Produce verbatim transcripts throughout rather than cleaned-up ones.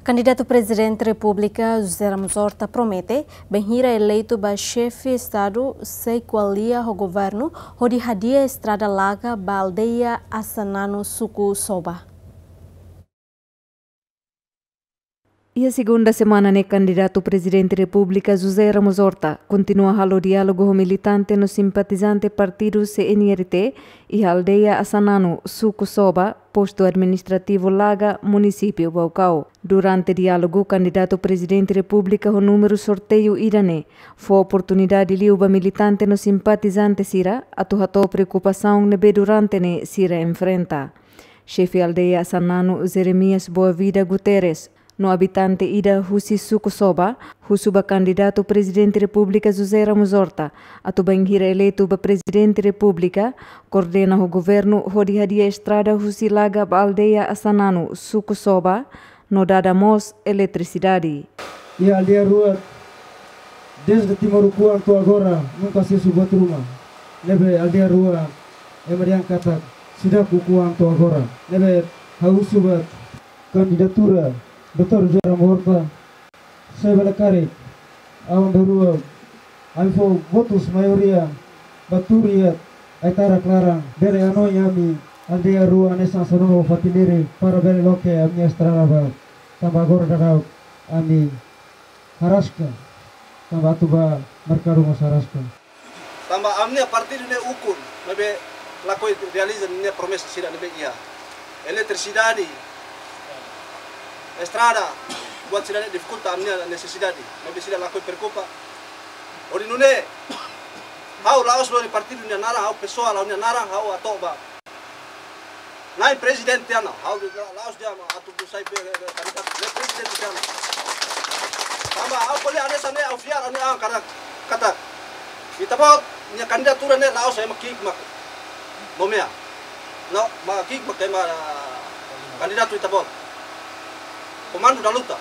Kandidatu Prezidente Repúblika José Ramos Horta promete, bainhira eleitu ba xefe Estadu, sei ko'alia ho governu hodi hadi'a estrada Laga ba aldeia Asananu, suku Soba. Iha segunda semana ne'e, kandidatu Prezidente Repúblika José Ramos Horta kontinua halo diálogu ho militante no simpatizante partidu C N R T iha aldeia Asananu, suku Soba, postu administrativu Laga, munisípiu Baucau. Durante diálogu, kandidatu Prezidente Repúblika ho númeru sorteiu ida-ne'e fó oportunidade liu ba militante no simpatizante sira atu hato'o preokupasaun ne'ebé durante ne'e sira enfrenta. Xefe aldeia Asananu, Jeremias Boavida Guterres, no abitante ida husi suku Soba, husu ba kandidatu Prezidente Repúblika José Ramos Horta atu, bainhira eleitu ba Prezidente Repúblika, koordena ho governu hodi hadi'a estrada husi Laga ba aldeia Asananu, suku Soba, no dada mós eletrisidade. Iha aldeia rua, desde Timor ukuan to'o agora, nunka asesu buat ruma. Ne'ebé aldeia rua, ema dehan katak, seidauk ukuan to'o agora. Ne'ebé ha'u husu ba kandidatura doutór José Ramos Horta, se bele karik, aban-bainrua, ami fó votus maioria ba tuur iha ai-tarak laran, bele hanoin ami aldeia rua hanesan Asananu ho Fatiniri para bele loke ami-nia estrada ba. Tanba agora daudaun ami haraska, tanba atu ba merkadu mós haraska. Tanba ami-nia partidu ne'e ukun, maibé lakohi realiza ninia promesa sira ne'ebé iha. Eletrisidade, estrada, buat sira ne'e difikulta ami-nia nesesidade, maibé sira lakohi preokupa. Hodi nune'e, ha'u la'ós lori partidu nia naran, ha'u pesoál ha'u-nia naran, ha'u atu ba. Nai prezidente tiha ona, ha'u la'ós dehan atu ba sai be, be, kandidatu, nai prezidente tiha ona. Tanba ha'u ko'alia hanesan ne'e, ha'u fiar ha'u-nia an katak, katak. Ita-boot nia kandidatura ne'e la'ós ema ki'ik mak nomeia. No, mak ki'ik mak ema, ah, kandidatu ita-boot. Komandu da luta.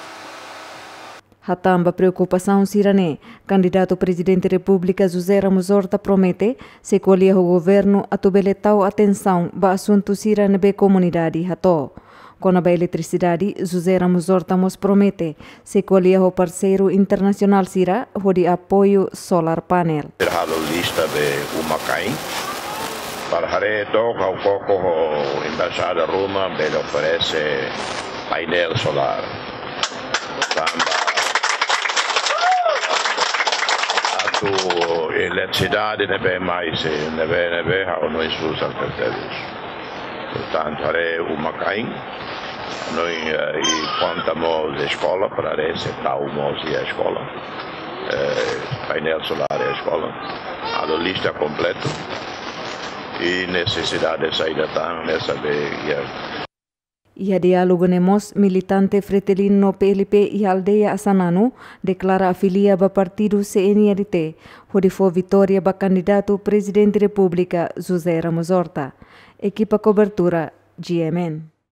Hatán ba preokupasaun sira-ne'e, kandidatu Prezidente Repúblika José Ramos Horta promete sei ko'alia ho governu atu bele tau atensaun ba asuntu sira ne'ebé komunidade hato'o. Kona-ba eletrisidade, José Ramos Horta mós promete sei ko'alia ho parseiru internasionál sira hodi apoiu solar panel. Halo lista be uma-kain. Para haree took ha'u koko ho embaixada ruma bele oferese painel solár. Tanba atu eletrisidade ne'ebé mai, se ne'ebé, ne'ebé ha'u hanoin susar tertelis. Portantu, haree uma-kain, hanoin, eh, i konta mós eskola, para haree se tau mós iha eskola. Eh, painel solár iha eskola. Halo lista kompletu. I nesesidade saida tan, ne'e sabe iha. Iha diálogu ne'e mós, militante Fretilin no P L P iha aldeia Asananu deklara afilia ba partidu C N R T, hodi fó vitória ba kandidatu Prezidente Repúblika José Ramos Horta. Ekipa kobertura, G M N.